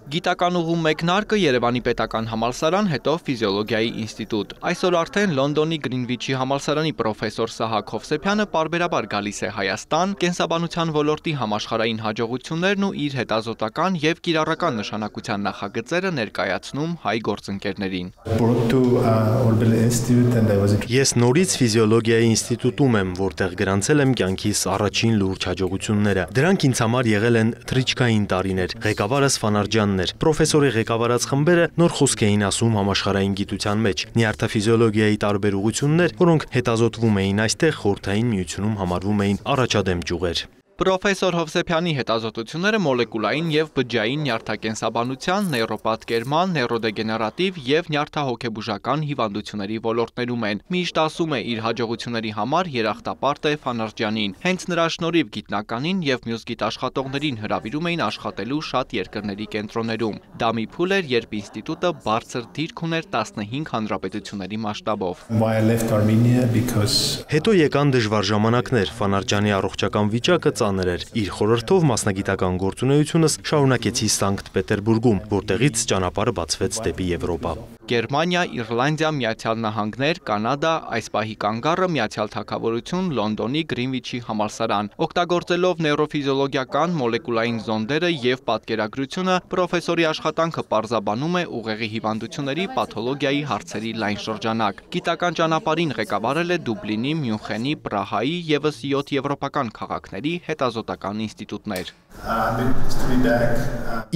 Գիտական ուղու մեկնարկը Երևանի պետական համալսարան, հետո ֆիզիոլոգիայի ինստիտուտ։ Այսօր արդեն Լոնդոնի Գրինվիչի համալսարանի պրոֆեսոր Սահակ Հովսեփյանը պարբերաբար գալիս է Հայաստան, կենսաբանության ոլորտի համաշխարհային հաջողություններն ու իր հետազոտական եւ կիրառական նշանակության նախագծերը ներկայացնում հայ գործընկերներին։ Ես նորից ֆիզիոլոգիայի ինստիտուտում եմ, որտեղ գրանցել եմ կյանքիս առաջին լուրջ հաջողությունները։ Դրանք ինձ համար եղել են թռիչքային տարիներ։ Ղեկավարս Ֆանարջյանն էր։ Պրոֆեսորի ղեկավարած խմբերը նոր խոսք էին ասում համաշխարհային գիտության մեջ։ Նյարդաֆիզիոլոգիայի տարբեր ուղղություններ, որոնք հետազոտվում էին այստեղ, Խորհրդային Միությունում համարվում էին առաջադեմ ճյուղեր։ Պրոֆեսոր Հովսեփյանի հետազոտությունները մոլեկուլային եւ բջջային նյարդակենսաբանության, նեյրոպաթկերման, նեյրոդեգեներատիվ եւ նյարդահոգեբուժական հիվանդությունների ոլորտներում են։ Միշտ ասում է իր հաջողությունների համար երախտապարտ է Ֆանարջյանին։ Հենց նրա շնորհիվ գիտնականին եւ մյուս գիտաշխատողներին հրավիրում էին աշխատելու շատ երկրների կենտրոններում։ Դա մի փուլ էր, երբ ինստիտուտը բարձր դիրք ուներ 15 հանրապետությունների մասշտաբով։ Հետո եկան դժվար ժամանակներ, Ֆանարջյանի առողջական վիճակը էր։ Իր խորհրդով մասնագիտական գործունեությունս շարունակեցի Սանկտ Պետերբուրգում, որտեղից ճանապարհը բացվեց դեպի Եվրոպա։ Գերմանիա, Իռլանդիա, Միացյալ Նահանգներ, Կանադա, այս պահի կանգառը Միացյալ Թագավորություն, Լոնդոնի Գրինվիչի համալսարան։ Օգտագործելով նեյրոֆիզիոլոգիական մոլեկուլային զոնդերը եւ պատկերագրությունը, պրոֆեսորի աշխատանքը պարզաբանում է ուղեղի հիվանդությունների պաթոլոգիայի հարցերի լայն շրջանակ։ Գիտական ճանապարհին ղեկավարել է Դուբլինի, Մյունխենի, Պրահայի եւս 7 եվրոպական քաղաքների հետազոտական ինստիտուտներ։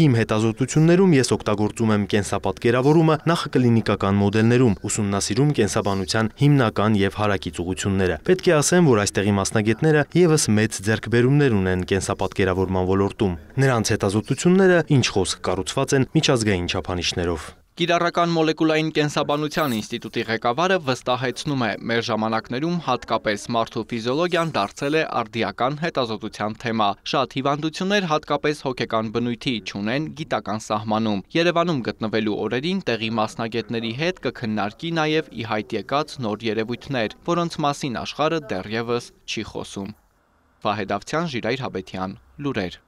Իմ հետազոտություններում ես օգտագործում եմ կենսապատկերավորումը նախակլինիկական մոդելներում, ուսումնասիրում կենսաբանության հիմնական եւ հարակից ուղղությունները։ Պետք է ասեմ, որ այստեղի մասնագետները եւս մեծ ձեռքբերումներ ունեն կենսապատկերավորման ոլորտում։ Նրանց հետազոտությունները, ինչ խոսք, կառուցված են միջազգային չափանիշներով։ Կիրառական մոլեկուլային կենսաբանության ինստիտուտի ղեկավարը վստահեցնում է, մեր ժամանակներում հատկապես մարդու ֆիզիոլոգիան դարձել է արդիական հետազոտության թեմա։ Շատ հիվանդություններ հատկապես հոգեկան բնույթի չունեն գիտական սահմանում։ Երևանում գտնվելու օրերին տեղի մասնագետների հետ կքննարկի նաև ի հայտ եկած նոր երևույթներ, որոնց մասին աշխարհը դեռևս չի խոսում։ Վահե Դավթյան, Ժիրայր Հաբետյան, լուրեր։